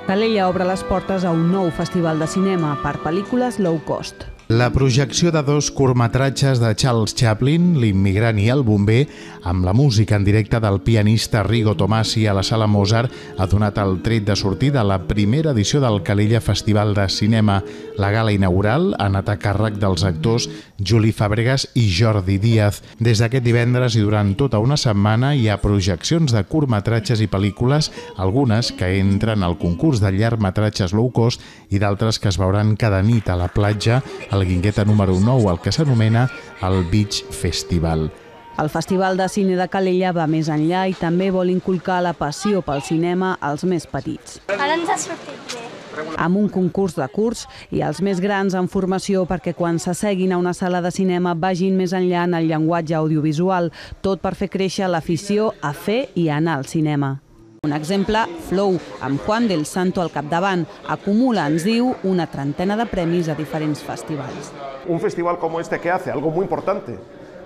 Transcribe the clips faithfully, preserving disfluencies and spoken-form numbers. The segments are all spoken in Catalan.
Calella obre les portes a un nou festival de cinema per pel·lícules low cost. La projecció de dos curtmetratges de Charles Chaplin, L'immigrant i el bomber, amb la música en directe del pianista Rigo Tomasi a la Sala Mozart, ha donat el tret de sortida a la primera edició del Calella Festival de Cinema. La gala inaugural ha anat a càrrec dels actors Juli Fàbregas i Jordi Díaz. Des d'aquest divendres i durant tota una setmana hi ha projeccions de curtmetratges i pel·lícules, algunes que entren al concurs de llargmetratges low cost i d'altres que es veuran cada nit a la platja, a la Guingueta número nou, el que s'anomena el Beach Festival. El Festival de Cine de Calella va més enllà i també vol inculcar la passió pel cinema als més petits. Ara ens ha sortit bé. Amb un concurs de curts i els més grans en formació perquè quan s'asseguin a una sala de cinema vagin més enllà en el llenguatge audiovisual, tot per fer créixer l'afició a fer i anar al cinema. Un exemple, Flow, amb Juan del Santo al capdavant, acumula, ens diu, una trentena de premis a diferents festivals. Un festival como este, ¿qué hace? Algo muy importante.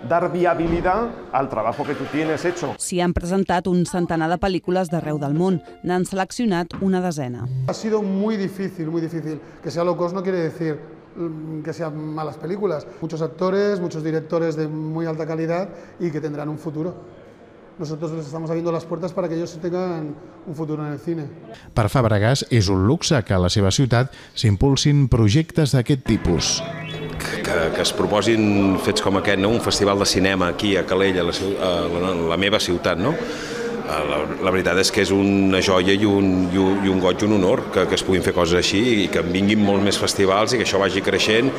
Dar viabilidad al trabajo que tú tienes hecho. S'hi han presentat un centenar de pel·lícules d'arreu del món. N'han seleccionat una desena. Ha sido muy difícil, muy difícil. Que sea low cost no quiere decir que sean malas películas. Muchos actores, muchos directores de muy alta calidad y que tendrán un futuro. Nosotros les estamos abriendo las puertas para que ellos tengan un futuro en el cine. Per Fàbregas és un luxe que a la seva ciutat s'impulsin projectes d'aquest tipus. Que, que es proposin fets com aquest, no? Un festival de cinema aquí a Calella, a la, a la, la meva ciutat, no? La, la veritat és que és una joia i un, i un, i un goig i un honor que, que es puguin fer coses així i que en vinguin molts més festivals i que això vagi creixent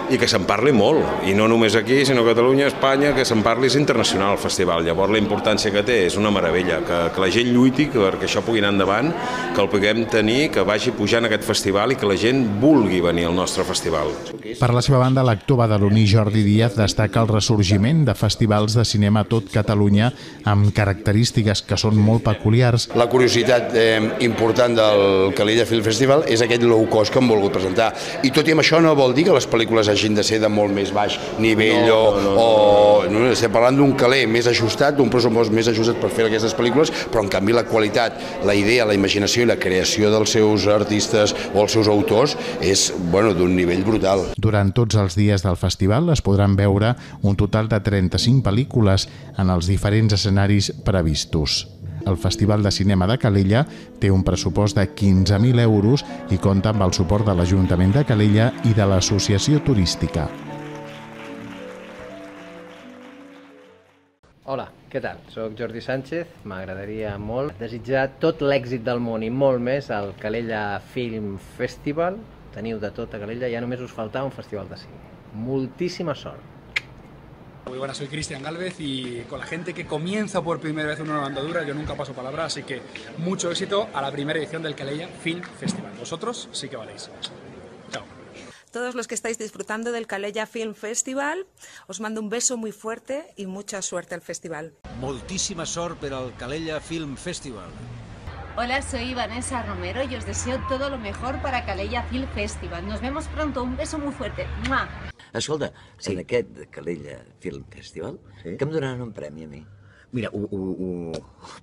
i que se'n parli molt, i no només aquí, sinó a Catalunya, a Espanya, que se'n parli, és internacional el festival. Llavors la importància que té és una meravella, que, que la gent lluiti perquè això pugui anar endavant, que el puguem tenir, que vagi pujant aquest festival i que la gent vulgui venir al nostre festival. Per la seva banda, l'actor badaloní Jordi Díaz destaca el ressorgiment de festivals de cinema a tot Catalunya amb característiques que són molt peculiars. La curiositat eh, important del Calella Film Festival és aquest low cost que hem volgut presentar. I tot i amb això no vol dir que les pel·lícules hagin de ser de molt més baix nivell no, no, no, o... No, no, estem parlant d'un caler més ajustat, d'un pressupost més ajustat per fer aquestes pel·lícules, però en canvi la qualitat, la idea, la imaginació i la creació dels seus artistes o els seus autors és bueno, d'un nivell brutal. Durant tots els dies del festival es podran veure un total de trenta-cinc pel·lícules en els diferents escenaris previstos. El Festival de Cinema de Calella té un pressupost de quinze mil euros i compta amb el suport de l'Ajuntament de Calella i de l'Associació Turística. Hola, què tal? Soc Jordi Sánchez. M'agradaria molt desitjar tot l'èxit del món i molt més al Calella Film Festival. Teniu de tot a Calella, ja només us faltava un festival de cine. Moltíssima sort. Muy buenas, soy Cristian Gálvez y con la gente que comienza por primera vez una nueva andadura, yo nunca paso palabra, así que mucho éxito a la primera edición del Calella Film Festival. Vosotros sí que valéis. Chao. Todos los que estáis disfrutando del Calella Film Festival, os mando un beso muy fuerte y mucha suerte al festival. Moltíssima sort per al Calella Film Festival. Hola, soy Vanessa Romero y os deseo todo lo mejor para Calella Film Festival. Nos vemos pronto, un beso muy fuerte. ¡Mua! Escolta, sí. En aquest Calella Film Festival, sí? Que em donaran un premi a mi? Mira, ho, ho, ho,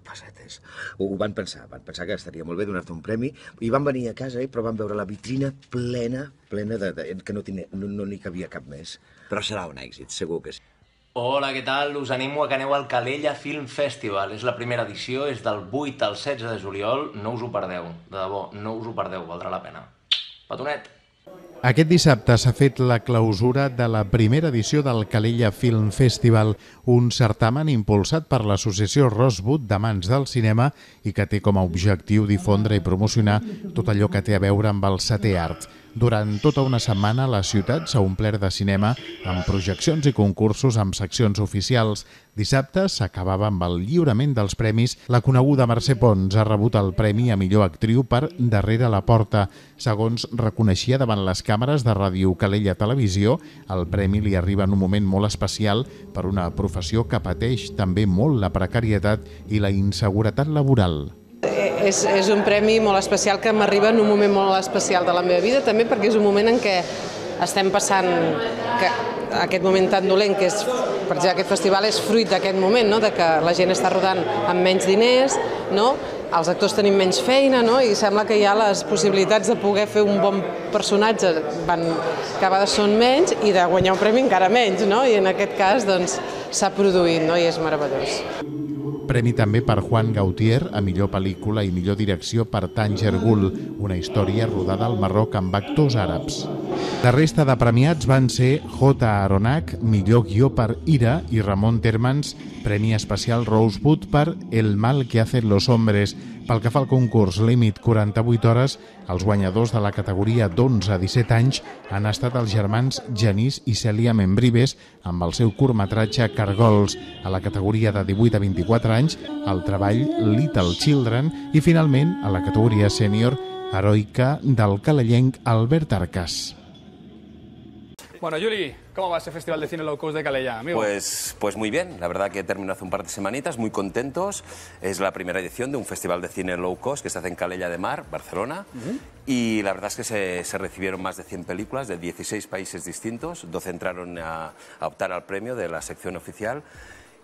pessetes, ho, ho van pensar, van pensar que estaria molt bé donar-te un premi i van venir a casa, eh, però van veure la vitrina plena, plena de, de que no n'hi no, no cabia cap més. Però serà un èxit, segur que sí. Hola, què tal? Us animo a que aneu al Calella Film Festival. És la primera edició, és del vuit al setze de juliol. No us ho perdeu, de debò, no us ho perdeu, valdrà la pena. Petonet! Aquest dissabte s'ha fet la clausura de la primera edició del Calella Film Festival, un certamen impulsat per l'associació Rosewood d'Amants del Cinema i que té com a objectiu difondre i promocionar tot allò que té a veure amb el setè art. Durant tota una setmana la ciutat s'ha omplert de cinema amb projeccions i concursos amb seccions oficials. Dissabte s'acabava amb el lliurament dels premis. La coneguda Mercè Pons ha rebut el premi a millor actriu per Darrere la porta. Segons reconeixia davant les càmeres de Ràdio Calella Televisió, el premi li arriba en un moment molt especial per una professió que pateix també molt la precarietat i la inseguretat laboral. És, és un premi molt especial que m'arriba en un moment molt especial de la meva vida, també perquè és un moment en què estem passant que aquest moment tan dolent que és, per exemple, aquest festival és fruit d'aquest moment, no? De que la gent està rodant amb menys diners, no? els actors tenim menys feina, no? I sembla que ja les possibilitats de poder fer un bon personatge van, cada vegada són menys i de guanyar un premi encara menys, no? I en aquest cas doncs, s'ha produït, no? I és meravellós. Premi també per Juan Gautier a millor pel·lícula i millor direcció per Tanger Gul, una història rodada al Marroc amb actors àrabs. La resta de premiats van ser J. Aronak, millor guió per Ira, i Ramon Térmens, Premi Especial Rosewood per El mal que hacen los hombres. Pel que fa al concurs límit quaranta-vuit hores, els guanyadors de la categoria d'onze a disset anys han estat els germans Genís i Cèlia Membrives amb el seu curtmetratge Cargols. A la categoria de divuit a vint-i-quatre anys, el treball Little Children i, finalment, a la categoria sènior, Heroica, del calellenc Albert Arcas. Bueno, Juli, ¿cómo va ese Festival de Cine Low Cost de Calella, amigo? Pues, pues muy bien, la verdad que terminó hace un par de semanitas, muy contentos. Es la primera edición de un Festival de Cine Low Cost que se hace en Calella de Mar, Barcelona. Uh-huh. Y la verdad es que se, se recibieron más de cien películas de dieciséis países distintos. doce entraron a, a optar al premio de la sección oficial.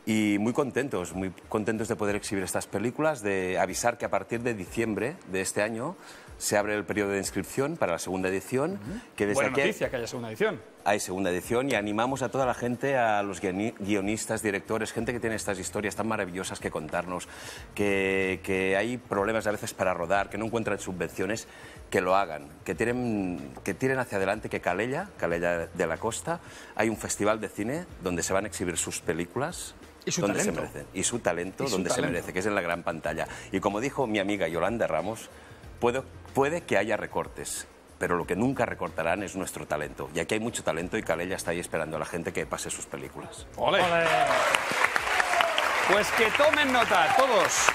Y muy contentos, muy contentos de poder exhibir estas películas, de avisar que a partir de diciembre de este año se abre el periodo de inscripción para la segunda edición. Uh-huh. Que desde Buena aquí noticia que haya segunda edición. Hay segunda edición y animamos a toda la gente, a los guionistas, directores, gente que tiene estas historias tan maravillosas que contarnos, que, que hay problemas a veces para rodar, que no encuentran subvenciones, que lo hagan, que tiren, que tiren hacia adelante, que Calella, Calella de la Costa, hay un festival de cine donde se van a exhibir sus películas. Y su donde talento. Se merecen, y su talento, y su donde talento. se merece, que es en la gran pantalla. Y como dijo mi amiga Yolanda Ramos, puede, puede que haya recortes, pero lo que nunca recortarán es nuestro talento. Y aquí hay mucho talento y Calella está ahí esperando a la gente que pase sus películas. ¡Ole! ¡Ole! Pues que tomen nota, todos.